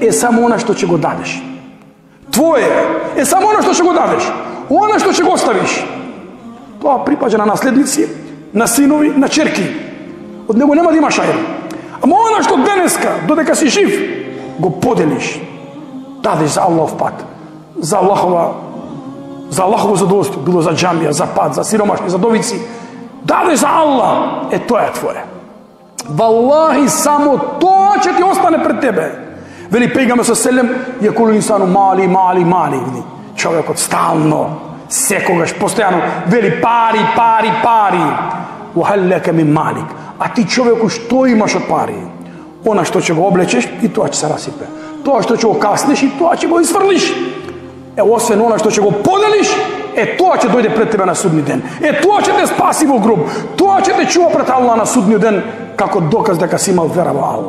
е само она што ќе го дадеш. Твое е само она што ќе го дадеш. Она што ќе го оставиш, тоа припаѓа на наследници, на синови, на черки. Од него нема да имаш ајр. Ама она што денеска, додека си жив, го поделиш, дадеш за Аллахов пат, за Аллахово задоволство, било за џамија, за пат, за сиромашни, за довици, дадеш за Аллах, тоа е твое. Валлахи, само тоа ќе ти остане пред тебе. Вели пејгаме со селем, јакулу инсану мали, вели. Човекот стално, секогаш, постојано, вели пари. Ухаллека мин малик. А ти човеку што имаш од пари? Она што ќе го облечеш и тоа ќе се расипе. Тоа што ќе го каснеш и тоа ќе го изфрлиш. Освен она што ќе го поделиш, тоа ќе дојде пред тебе на судни ден. Тоа ќе те спаси во гроб. Тоа ќе те чува пред Аллах на судниот ден како доказ дека си имал вера во Аллах.